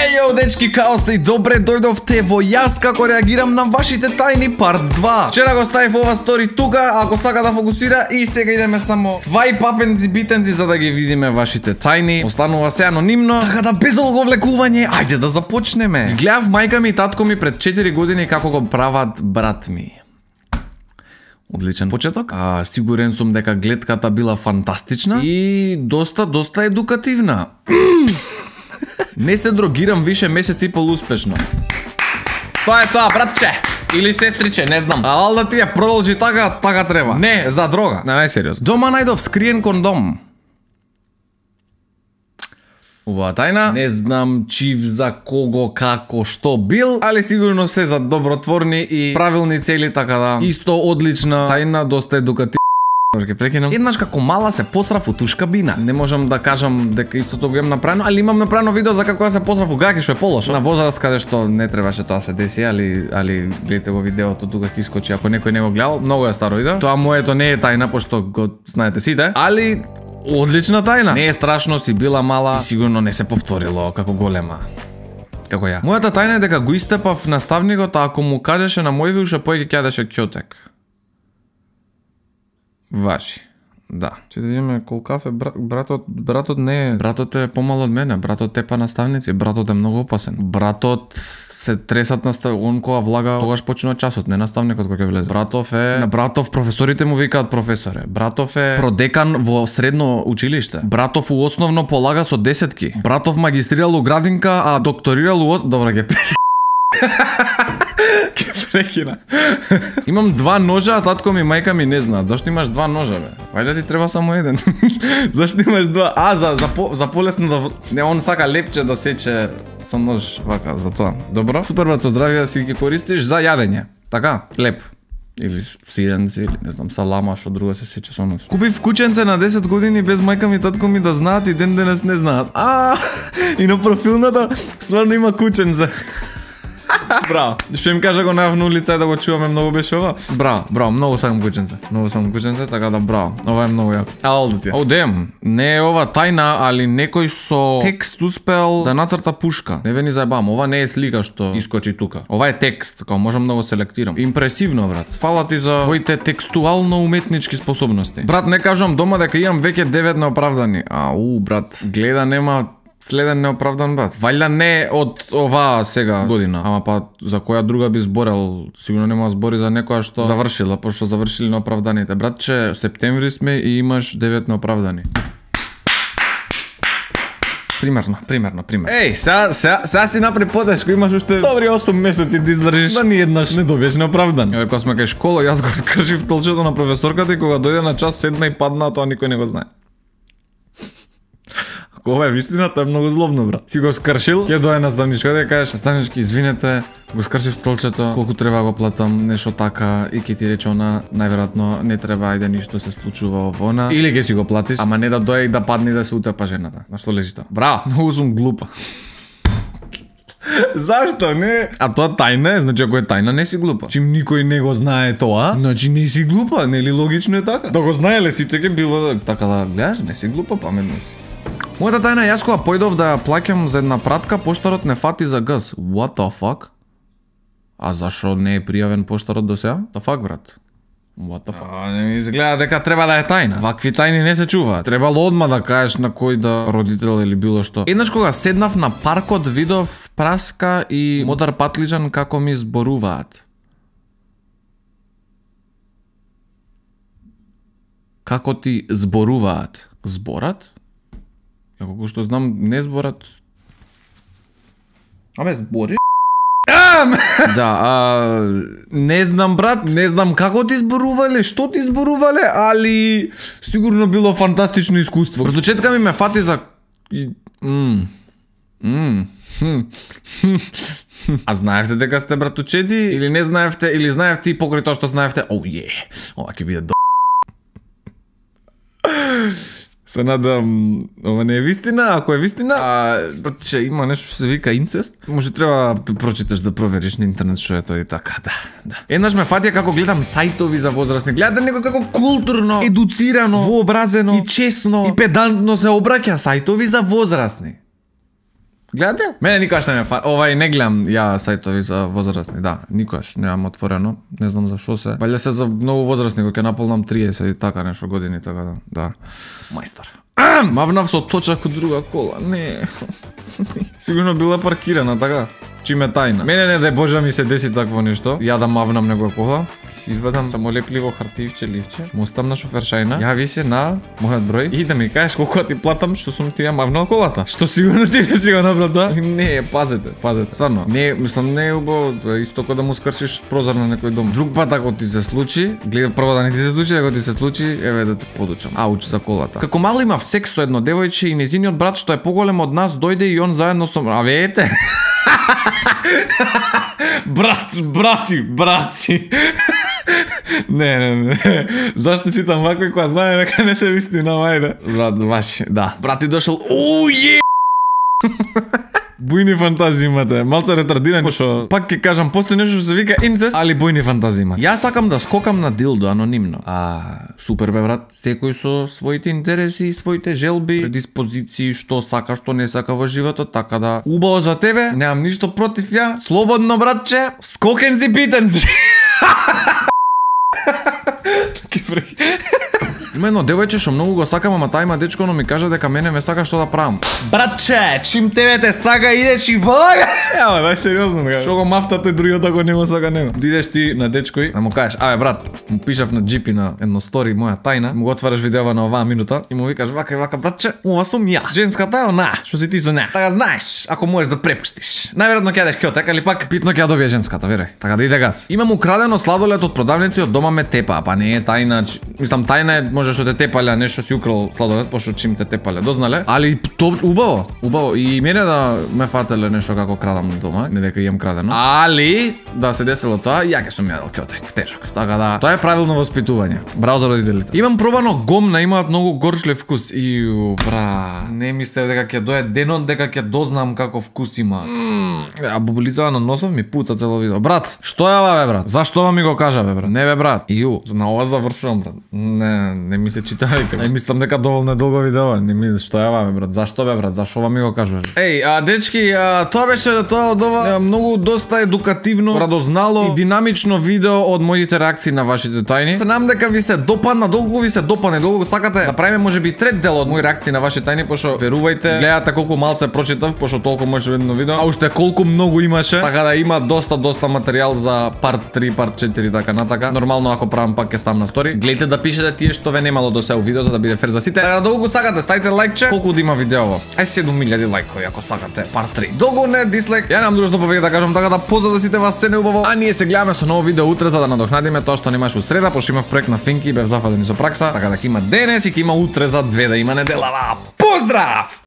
Ејо, дечки, као сте и добре дојдовте во јас како реагирам на вашите тајни парт 2. Вчера го ставив ова стори тука, ако сака да фокусира, и сега идеме само свај папенци битенци за да ги видиме вашите тајни. Останува се анонимно, така да без оговлекување, ајде да започнеме. Гледав мајка ми и татко ми пред 4 години како го прават брат ми. Одличен почеток. Сигурен сум дека гледката била фантастична и доста едукативна. Не се дрогирам више месец и пол успешно. Тоа е тоа, братче. Или сестриче, не знам. Ал да ти ја продолжи така треба. Не, за дрога. Не, најсериозно. Дома најдов скриен кондом. Убава тајна. Не знам чив за кого, како, што бил, али сигурно се за добротворни и правилни цели, така да. Исто одлична тајна, доста едукативна. Еднаш како мала се посрав у туш кабина. Не можам да кажам дека истото го имам направено, али имам направено видео за како се посрав у гаки, што е полошо. На возраст каде што не требаше тоа се деси, али гледате го видеото тука ќе искочи ако некој не го гледал. Многу е старо видео. Тоа моето не е тајна, пошто го знаете сите, али одлична тајна. Не е страшно, си била мала и сигурно не се повторило како голема. Како ја. Мојата тајна е дека го истепав наставникот, а ако му кажеше на мој уште поќе ќе јадеше ќотек. Важи. Да. Че да видиме кол кафе, братот не е. Братот е помал од мене, братот тепа наставници, братот е многу опасен. Братот се тресат он кога влага, тогаш почнува часот, не наставникот кој ќе влезе. На братов професорите му викаат професоре. Братов е продекан во средно училиште. Братов у основно полага со десетки. Братов магистрирал у градинка, а докторирал у добра ќе прекина. Имам 2 ножа, а татко ми и мајка ми не знаат. Зашто имаш 2 ножа, бе? Вајде ти треба само еден. Зашто имаш 2? За полесно да... Не, он сака лепче да сече со нож, вака, за тоа. Добро? Супер, брат, со здравие да си ги користиш за јадење. Така? Леп. Или сиденци, или не знам, салама, што друго се сече со нож. Купив кученце на 10 години без мајка ми и татко ми да знаат и ден денес не знаат. И на профилната стварно има кученце. Браво. Што им кажа го најав на улица и да го чуваме, многу беше ова. Браво, многу сакам кученце, така да браво. Ова е многу јако. Алдите. Дем, не е ова тајна, али некој со текст успел да нацрта пушка. Не ве ни заебам, ова не е слика што искочи тука. Ова е текст, како можам да го селектирам. Импресивно, брат. Фала ти за твоите текстуално уметнички способности. Брат, не кажам дома дека имам веќе 9 неоправдани. Брат, гледа нема следен неоправдан, брат. Валјда не од оваа сега година, ама па за која друга би зборел, сигурно нема збори за некоја што завршила, пошто завршили неоправданите. Братче, септември сме и имаш 9 неоправдани. Примерно. Еј, сега си напри потешко, имаш уште добри 8 месеци да издржиш, да ни еднаш не добиеш неоправдан. Кога сме кај школа, јас го скршив толчето на професорката и кога дојде на час седна и падна, тоа никој не го знае. Ова е вистина, тоа е многу злобно, брат. Си го скршил, ќе дое наставничката и кажеш: "Наставнички, извинете, го скршив столчето, колку треба го платам, нешто така", и ќе ти рече она: "Најверојатно не треба, ајде ништо се случува овона", или ќе си го платиш, ама не да дое и да падне и да се утепа жената. На што лежи тоа? Браво, многу сум глупа. Зашто не? А тоа тајна е, значи ако е тајна не си глупа. Чим никој не го знае тоа, значи не си глупа, нели логично е така? Да го знаеле сите ќе било така да гледаш, не си глупа, паметна си. Мојата тајна, јас кога појдов да ја плаќам за една пратка, поштарот не фати за газ. What the fuck? А зашо не е пријавен поштарот до сега? The fuck, брат? What the fuck? Не ми изгледа дека треба да е тајна. Вакви тајни не се чуваат. Требало одма да кажеш на кој да родител или било што. Еднаш кога седнав на паркот, видов праска и модар патлиџан како ми зборуваат. Како ти зборуваат? Зборат? Ја колку што знам, не зборат. Збори? Да, не знам, брат, не знам како ти зборувале, што ти зборувале, али сигурно било фантастично искуство. Проточетка ми ме фати за... А знаевте дека сте братучеди, или не знаевте, или знаевте и покрај тоа што знаевте, ова ќе биде Се надам, ова не е вистина, ако е вистина, че има нешто што се вика инцест, може треба да прочиташ, да провериш на интернет што е тоа и така, да. Еднаш ме фатија како гледам сајтови за возрастни, гледате некој како културно, едуцирано, вообразено и честно и педантно се обраќа сајтови за возрастни. Гледате? Мене никогаш не ме не гледам ја сајтови за возрастни, да, никогаш немам отворено, не знам за што се. Валја се за многу возрастни, кога ќе наполнам 30 и така нешто години, така да. Мајстор. Мавнав со точак од друга кола, не. Сигурно била паркирана, така. Чим е тајна. Мене не дај Боже ми се деси такво нешто. Ја да мавнам негова кола. Си извадам самолепливо хартивче, ливче. Му оставам на шофершајна. Јави се на мојот број и да ми кажеш колку ти платам што сум ти ја мавнал колата. Што сигурно ти не си го направил тоа? Не, пазете. Стварно. Не, мислам не е убаво, исто како да му скршиш прозор на некој дом. Друг пат ако ти се случи, гледа прво да не ти се случи, ако ти се случи, еве да те подучам. Ауч за колата. Како мал имав секс со едно девојче и незиниот брат што е поголем од нас дојде и он заедно со ете. Брати. Не. Зашто читам вако и кога знае дека не се вистина, ајде. Брат, баш, да. Брати дошол. Бујни фантазии имате, малце ретардирани, пошто пак ќе кажам, постои нешто што се вика инцест, али бујни фантазии имате. Јас сакам да скокам на дилдо анонимно. Супер бе брат, секој со своите интереси и своите желби, предиспозиции, што сака, што не сака во животот, така да убаво за тебе, немам ништо против ја. Слободно братче, скокен си питен си. Има едно девојче што многу го сакам, ама тај има дечко, но ми кажа дека мене ме сака што да правам. Братче, чим тебе те сака, идеш и влага. Ама, дај сериозно, така. Што го мафта тој другиот ако не го сака него. Идеш ти на дечкој, да му кажеш, брат, му пишав на джипи на едно стори моја тајна, му го отвараш видеова на оваа минута и му викаш вака и вака, братче, ова сум ја. Женската е она, што си ти со неа. Така знаеш, ако можеш да препуштиш. Најверојатно ќе јадеш кјотек, али пак питно ќе ја добие женската, верој. Така да иде газ. Имам украдено сладолед од продавници, од дома ме тепа, па не е тајна, мислам тајна е може што те тепале, нешто си украл сладолед, пошто чим те тепале, дознале. Али то убаво. И мене да ме фателе нешто како крадам дома, не дека имам крадено. Али да се десело тоа, ја ќе сум јадел кјотек, тешок. Така да, тоа е правилно воспитување. Браво за родителите. Имам пробано гомна, имаат многу горчлив вкус. Бра, не мислев дека ќе дое денот дека ќе дознам каков вкус има. А бубулицава на носов ми пуца цело видео. Брат, што е ова бе брат? Зашто ова ми го кажа бе брат? Не бе брат. На ова завршувам брат. Не ми се чита вика. Мислам дека доволно долго видео. Не ми што е ова бе брат? Зашто бе брат? Зашо ова ми го кажуваш? Дечки, тоа беше тоа од ова многу доста едукативно, радознало и динамично видео од моите реакции на вашите тајни. Се надам дека ви се допадна, долго ви се допадне, долго сакате да правиме можеби трет дел од мои реакции на вашите тајни, пошто верувајте, гледате колку малце прочитав, пошто толку може едно видео, а уште колку многу имаше, така да има доста материјал за парт 3, парт 4 така натака. Нормално ако правам пак ќе ставам на стори. Гледате да пишете тие што ве немало до сега видео за да биде фер за сите. Долго сакате, ставите лајкче, колку да има видеово. 7000 лајкови ако сакате парт 3. Долго не дислайк. Ја немам друго што повеќе да кажам, така да поздрав да сите вас се неубаво. А ние се гледаме со ново видео утре за да надокнадиме тоа што немаше у среда, пошто имав проект на Финки и бев зафаден со пракса, така да ќе има денес и ќе има утре за 2 да има неделава. Поздрав!